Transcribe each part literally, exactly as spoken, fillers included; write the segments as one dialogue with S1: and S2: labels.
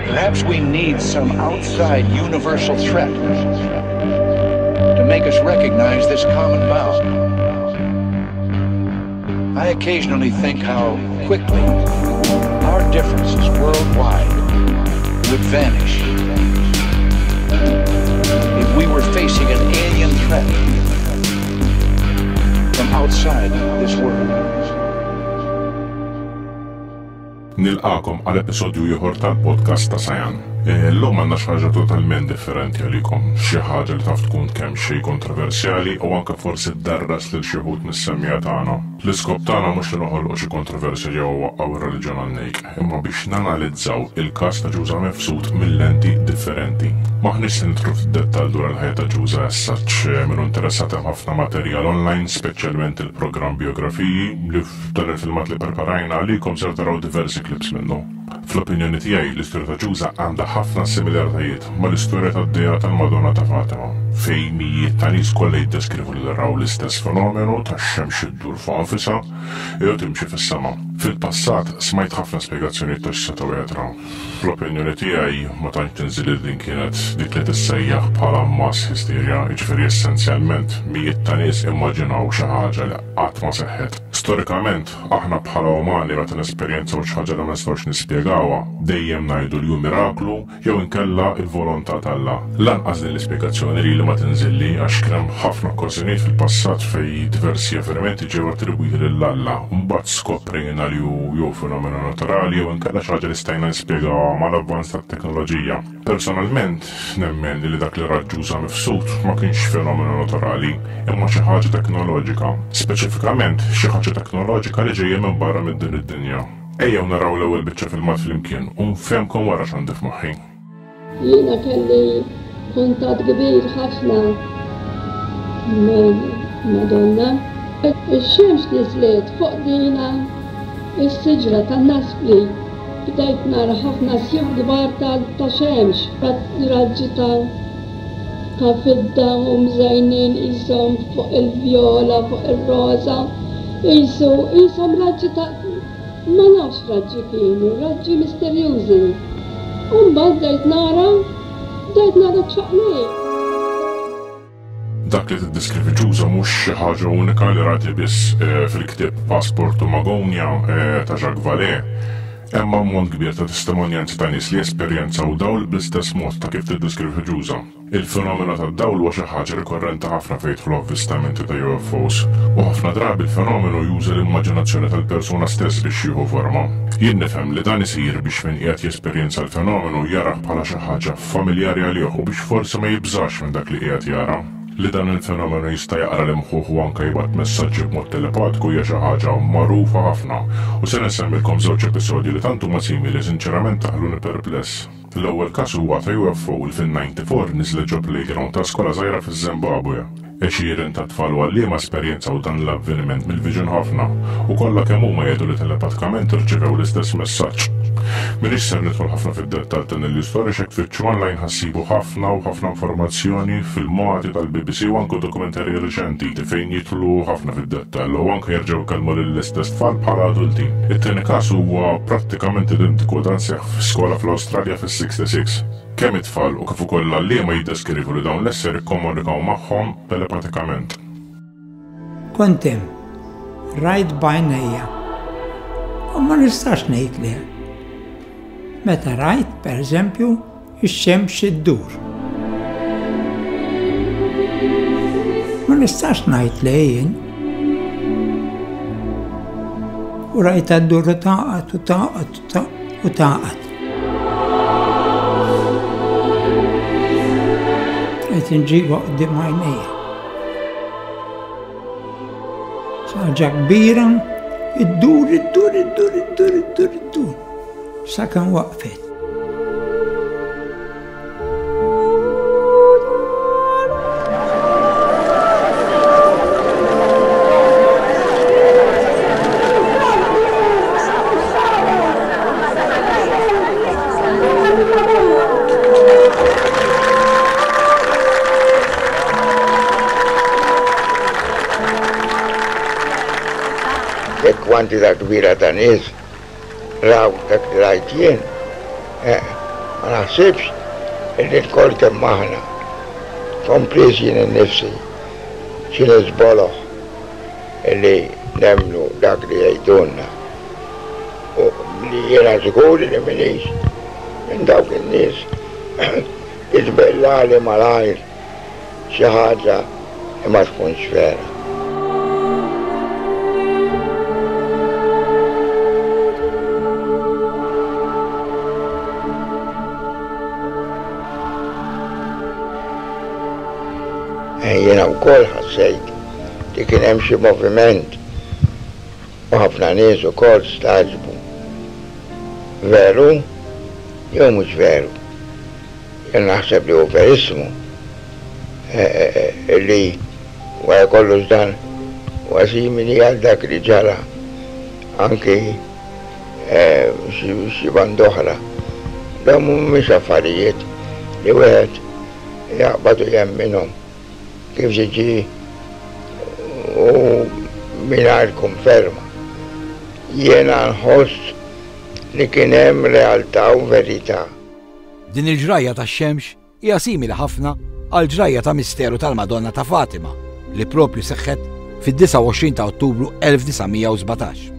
S1: Perhaps we need some outside universal threat to make us recognize this common bond. I occasionally think how quickly our differences worldwide would vanish if we were facing an alien threat from outside this world.
S2: Nilqagħkom għal episodju ieħor tal-podcast ta' Sayan. Illum għandna xi ħaġa totalment differenti għalikom, xi ħaġa li taf tkun kemm xejn kontroversjali u anke forsi ddarras lil xi wħud mis-semmiegħa tagħna. L-iskop tagħna mhux li noħolqu xi kontroversja jew waqqgħu ir-reliġjon għan-nejk, imma biex nanalizzaw il-każ ta' Ġuża Mifsud mill-lenti differenti. M'aħniex se nidħlu fid-dettall dwar il-ħajja ta' Ġuża as such, min hu interessat hemm ħafna materjal online, speċjalment il-programm biografiji li f'dan il-filmat li preparajna għalikom ser taraw diversi clips minnu. Fl-opinjoni tiegħi l-istorja ta' Ġuża għandha ħafna similaritajiet mal-istorja tad-dehra tal-Madonna ta' Fatima, fejn mijiet ta' nies kollha jiddeskrivu li raw l-istess fenomenu tax-xemx iddur fuq nfisha jew timxi fis-sema. Fil-passat smajt ħafna spjegazzjonijiet ta' x'setgħu jatraw. Fl-opinjoni tiegħi ma tantx tinżel li din kienet dik li tissejjaħ bħala mass hysteria, jiġifieri essenzjalment mijiet ta' nies immaġinaw xi ħaġa li qatt ma seħħet. Storikament, aħna bħala umani meta nesperjenzaw xi ħaġa li ma nistgħux nispjegawha, dejjem ngħidu li hu miraklu jew inkella il-volontà t'Alla. Lanqas din l-ispjegazzjoni li ma tinżilli għax kien hemm ħafna okkażjonijiet fil-passat fejn diversi avvenimenti ġew attribwiti lil Alla, u mbagħad skoprejna li hu jew fenomenu naturali jew inkella xi ħaġa li stajna nispjegawha mal-avvanz tat-teknoloġija. Personalment, nemmen li dak li ra Ġuża Mifsud ma kienx fenomenu naturali, imma xi ħaġa teknoloġika. Speċifikament xi ħaġa teknoloġika li ġejja minn barra minn din id-dinja. Ejjew naraw l-ewwel biċċa filmat flimkien u nfehmkom wara x'għandi f'moħħi.
S3: Jiena kelli kuntatt kbir ħafna mal-Madonna. Ix-xemx niżlet fuq dina is-siġra tan-naspli. Bdejt nara ħafna sjuf kbar ta' xemx, raġġi ta' fidda u mżejnin qishom fuq il-vjola, fuq ir-roża, qisu qishom raġġi ta' ma nafx raġġi kienu, raġġi misterjużi. U mbagħad bdejt nara, bdejt nara ċaqliq.
S2: Dak li tiddeskrivi Ġuża mhux xi ħaġa unika li rati biss fil-ktieb Passport to Magonia ta' Jacques Vallée. Hemm ammont kbir ta' testimonjanzi ta' nies li esperjenzaw dawl bl-istess mod ta' kif tiddeskrivi Ġuża. Il-fenomenu tad-dawl huwa xi ħaġa rikorrenti ħafna fejn jidħlu avvistamenti ta' U F Os, u ħafna drabi l-fenomenu juża l-immaġinazzjoni tal-persuna stess biex jieħu forma. Jien nifhem li dan isir biex min qiegħed jesperjenza l-fenomenu jarah bħala xi ħaġa familjari għalih u biex forsi ma jibżax minn dak li qiegħed jara. Li dan il-fenomenu jista' jaqra l-imħuħ u anke jibgħat messaġġi b'mod telepatiku hija xi ħaġa magħrufa ħafna, u se nsemmilkom żewġ episodji li tant huma simili sinċerament taħluni perpless. L-ewwel każ huwa ta' U F O li fin-ninety-four niżlet ġo playground ta' skola żgħira fiż-Zimbabwe. Għexieren ta' tfal u għalliema esperjenzaw dan l-avveniment mill-viġin ħafna u kollha kemm huma jgħidu li telepatikament irċevew l-istess messaġġ. M'iniex ser nidħol ħafna fid-dettall ta' din l-istorja x'hekk tfittxu online ħassibu ħafna u ħafna informazzjoni filmati tal-B B C u anke dokumentarji riċenti fejn jidħlu ħafna fid-dettall u anke jerġgħu jkellmu lill-istess tfal bħala adulti. It-tieni każ huwa prattikament identiku dan seħħ f'skola fl-Awstralja fis-sixty-six. Kemm it-tfal u kif ukoll l-għalliema jiddeskrivu li dawn l-esseri kkomunikaw magħhom telepatikament.
S4: Kont hemm, rajt b'għajnejja, u ma nistax ngħid le. Meta rajt, per eżempju, ix-xemx iddur. Ma nistax ngħid le jien. U rajt ddur u taqgħod u taqgħod u taqgħod. Qed inġibha quddiem għajnejja. Ħaġa kbira, iddur, iddur, iddur, iddur, iddur, iddur. Sakemm waqfet.
S5: Kwantità kbira ta' nies raw dak li rajt jien, ma naħsibx illi lkoll kemm aħna, kompriż jien innifsi, xi nies boloh illi nemmnu dak li jgħidulna. U li jiena żgur li m'iniex minn dawk in-nies li tbellali malajr xi ħaġa li ma tkunx vera. Jiena wkoll ħassejt li kien hemm xi moviment u ħafna nies ukoll stagħġbu. Veru jew mhux veru? Jien naħseb li hu verissimu li wara kollox dan huwa simili għal dak li ġara anki xi banda oħra. Dawn mhumiex affarijiet li wieħed jaqbad u jemminhom kif ġiġi u mingħajr konferma. Jiena nħoss li kien hemm realtà u verità.
S6: Din il-ġrajja tax-xemx hija simili ħafna għal ġrajja ta' misteru tal-Madonna ta' Fatima li propju seħħet fid-disgħa u għoxrin ta' Ottubru elf disa' mija u sbatax.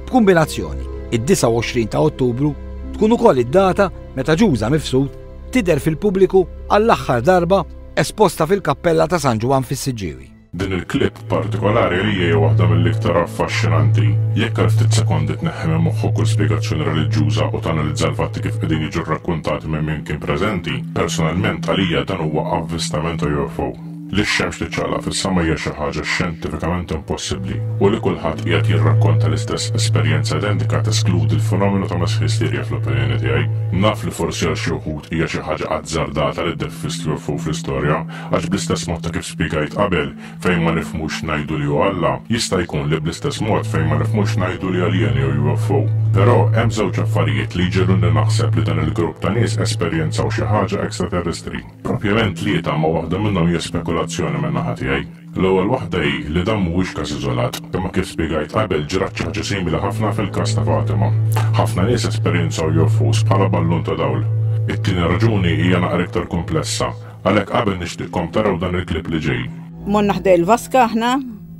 S6: B'kombinazzjoni, id-disgħa u għoxrin ta' Ottubru tkun ukoll id-data meta Ġuża Mifsud tidher fil-pubbliku għall-aħħar darba esposta fil-kappella ta' San Ġwann fis-Siġġiewi.
S2: Din il-klip partikolari li hija waħda mill-iktar affaxxinanti. Jekk għal ftit sekondi tneħħi minn moħħok kull spjegazzjoni reliġjuża u tanalizza l-fatti kif qegħdin jiġu rrakkuntati minn min kien preżenti, personalment għalija dan huwa avvistament ta' U F O. Li x-xemx tiċċaqlaq fis-sema hija xi ħaġa xjentifikament impossibbli u li kulħadd qiegħed jirrakkonta l-istess esperjenza identika teskludi l-fenomenu ta' mass hysteria fl-opinjoni tiegħi. Naf li forsi għal xi wħud hija xi ħaġa azzardata li ddeffist U F O fl-istorja, għax bl-istess mod ta' kif spjegajt qabel fejn ma nifhmux ngħidu li hu Alla, jista' jkun li bl-istess mod fejn ma nifhmux ngħidu li aljeni jew U F O. Però hemm żewġ affarijiet li jġegħluni naħseb li dan il-grupp ta' nies esperjenzaw xi ħaġa ekstraterrestri. Propjament tlieta ma waħda minnhom hija spekulazzjoni minn naħa tiegħi. L-ewwel waħda hi li dan mhuwiex każ iżolat, imma kif spjegajt qabel ġrat xi ħaġa simili ħafna fil-każ ta' Fatima. Ħafna nies esperjenzaw U F Os bħala ballun ta' dawl. It-tieni raġuni hija naqra iktar komplessa, għalhekk qabel nixtieqkom taraw dan il-klip li ġej.
S7: Morna ħdej il-vaska aħna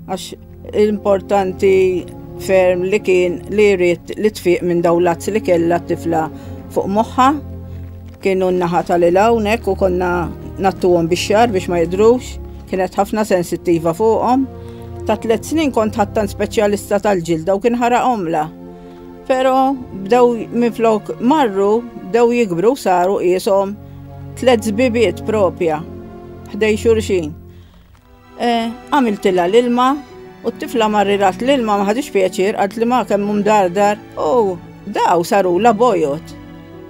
S7: għax l-importanti ferm li kien li jrid li tfiq minn dawn l-azz li kellha t-tifla fuq moħħha. Kienu n-naħa tal-il hawnhekk u konna nattuhom bix-xagħar biex ma jidhrux, kienet ħafna sensittiva fuqhom. Ta' tliet snin kont ħattan speċjalista tal-ġilda u kien ħaraqhomla. Però bdew minflok marru, bdew jikbru saru qishom tliet żbibiet propja ħdej xulxin. Eh, għamiltilha l-ilma u t-tifla marrirat l-ilma ma ħadix pjaċir, qalt li ma kemm hu mdardar u daw sarula bojod.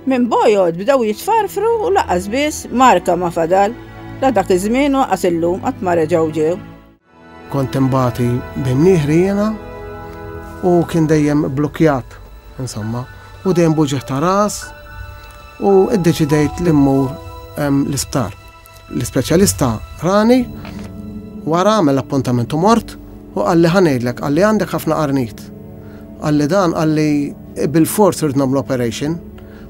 S7: Minn bojod bdew jitfarfru u laqas biss marka ma fadal. La dak iż-żmien u laqas illum qatt ma reġgħu ġew.
S8: Kont imbati b'imnieħri jiena u kien dejjem blokjat, insomma, u dejjem buġeħ ta' ras u iddeċidejt li mmur, em, l-isptar. L-ispeċjalista rani, wara għamel appuntament u mort u qalli ħa ngħidlek, qalli għandek ħafna qarnit. Qalli dan, qalli bil-fors irid nagħmlu operation,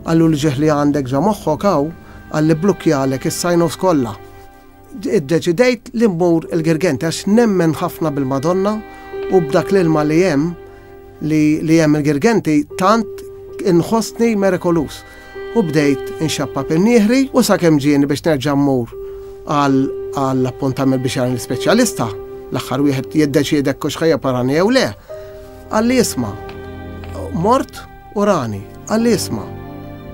S8: qallu li ġeħ li għandek ġa moħħok hawn, qalli blukkjalek is-sinus kollha. Iddeċidejt li mmur il-Girgenti għax nemmen ħafna bil-Madonna u b'dak l-ilma li hemm li, li hemm il-Girgenti tant inħossni mirakolus. U bdejt inxappa pin-nieħri u sakemm ġieni biex nerġa' mmur għal, għall-appuntament biex jara l-ispeċjalista, l-aħħar wieħed jiddeċiedek kux ħajja parani jew le. Qalli isma', mort u rani, qalli isma',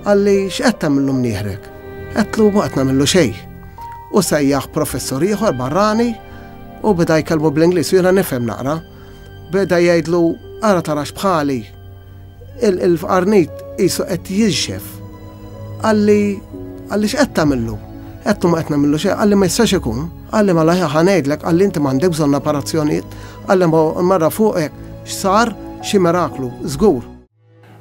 S8: qalli x'qed tagħmillu mnieħrek? Għedtlu ma qed nagħmillu xejn. U sejjaħ professur ieħor barrani u beda jkellmu bl-Ingliż u jiena nifhem naqra. Beda jgħidlu ara tarax bħali, il-, il-qarnit qisu qed jinxef. Qalli, qalli x'qed tagħmillu? Għedtlu ma qed nagħmillu xejn, qalli ma jistax ikun. Qalli mela ħa ngħidlek, qalli inti m'għandek bżonn operazzjonijiet, qalli ma marra fuqek x'sar xi miraklu, żgur.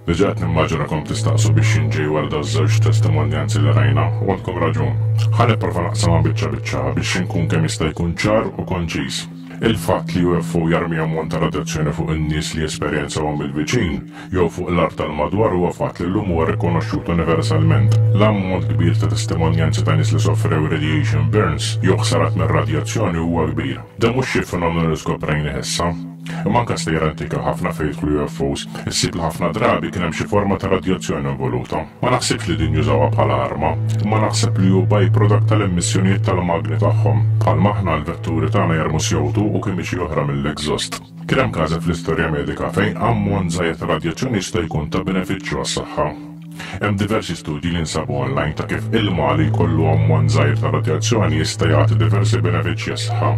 S2: Diġà qed nimmaġinakom tistaqsu biex jinġej wara dawn iż-żewġ testimonjanzi li rajna u għandkom raġun. Ħa nipprova naqsamha biċċa biċċa biex inkun kemm jista' jkun ċar u konċiż. Il-fatt li U F O jarmi ammont ta' radjazzjoni fuq in-nies li jesperjenzawhom mill-viċin jew fuq l-art tal-madwar huwa fatt li llum huwa rikonoxxut universalment. L-ammont kbir ta' testimonjanzi ta' nies li sofrew radiation burns jew ħsarat mir-radjazzjoni huwa kbir. Dan mhux xi fenomenu li skoprejna issa. Imma anke stejjer antika ħafna fejn jidħlu U F Os, issib li ħafna drabi kien hemm xi forma ta' radjazzjoni involuta. Ma naħsibx li din jużawha bħala arma, imma naħseb li hu byproduct tal-emissjonijiet tal-magni tagħhom. Bħalma aħna l-vetturi tagħna jarmu C O two u kimiċi oħra mill-exhaust. Kien hemm każi fl-istorja medika fejn ammont żgħir ta' radjazzjoni jista' jkun ta' benefiċċju għas-saħħa. Hemm diversi studji li nsabu online ta' kif ilma li jkollu ammont żgħir ta' radjazzjoni jista' jagħti diversi benefiċċji għas-saħħa.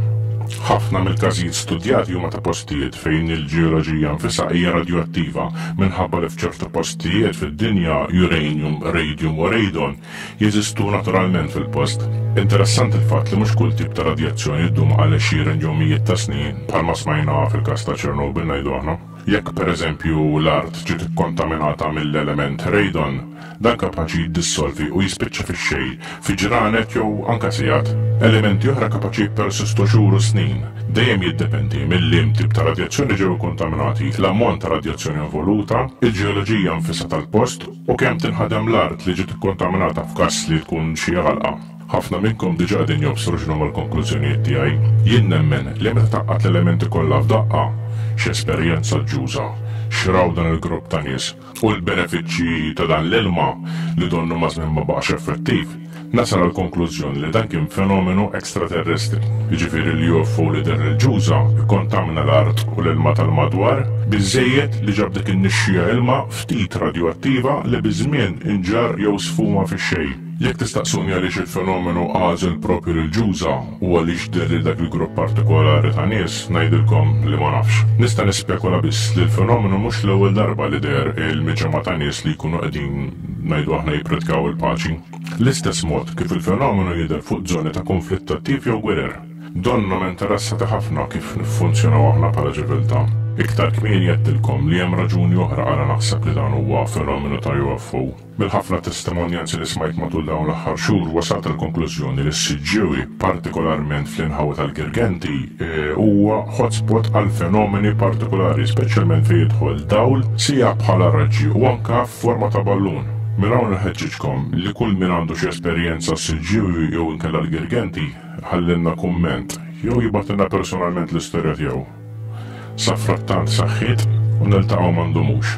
S2: Ħafna mill-każijiet studjati huma ta' postijiet fejn il-ġeoloġija nfisha hija radioattiva, minħabba li f'ċertu postijiet fid-dinja uranium, radium u radon jeżistu naturalment fil-post. Interessanti il-fatt li mhux kull tip ta' radjazzjoni ddum għal għexieren jew mijiet ta' snin, bħalma smajna fil-każ ta' Chernobyl, ngħidu aħna. Jekk, pereżempju, l-art ġiet ikkontaminata mill-element radon, dan kapaċi jiddissolvi u jispiċċa fix-xejn fi ġranet jew anka sigħat. Elementi oħra kapaċi jippersistu xhur u snin. Dejjem jiddependi mill-liem tip ta' radjazzjoni ġew kontaminati, l-ammont ta' radjazzjoni involuta, il-ġeoloġija nfisha tal-post u kemm tinħadem l-art li ġiet ikkontaminata f'każ li tkun xi għalqa. Ħafna minnkom diġà qegħdin jobsru x'inhuma l-konklużjonijiet tiegħi. Jien nemmen li meta tgħaqqad l-elementi kollha f'daqqa, x'esperjenza ġuża, x'raw dan il-grupp ta' nies u l-benefiċċji ta' dan l-ilma li donnu maż-żmien ma baqax effettiv, nasal għal konklużjoni li dan kien fenomenu ekstraterrestri. Jiġifieri li U F O li deher il-Ġuża ikkontamina l-art u l-ilma tal-madwar biżejjed li ġab dik in-nixxija ilma ftit radioattiva li biż-żmien inġar jew sfuma fix-xejn. Jekk tistaqsuni għaliex il-fenomenu għażel propju l-Ġuża u għaliex deher lil dak il-grupp partikolari ta' nies, ngħidilkom li ma nafx. Nista' nispekula biss li l-fenomenu mhux l-ewwel darba li deher il-miġemgħa ta' nies li jkunu qegħdin, ngħidu aħna, jippritkaw il-paċi. L-istess mod kif il-fenomenu jidher fuq żoni ta' konflitt attiv jew gwerer. Donnhom interessati ħafna kif niffunzjonaw aħna bħala ċiviltà. Iktar kmieni għedtilkom li hemm raġuni oħra għala naħseb li dan huwa fenomenu ta' U F O. Mill-ħafna testimonjanzi li smajt matul dawn l-aħħar xhur wasalt il-konklużjoni li s-Siġġiewi, partikolarment fl-inħawi tal-Girgenti, eh, huwa hotspot għal fenomeni partikolari, speċjalment fejn jidħol dawl, sija bħala raġġi u anka f'forma ta' ballun. Minn hawn nħeġġiġkom li kull min għandu xi esperjenza s-Siġġiewi jew inkella l-Girgenti ħallilna kumment jew jibgħatilna personalment l-istorja tiegħu. Safrattant, saħħiet u niltaqgħu ma ndumux.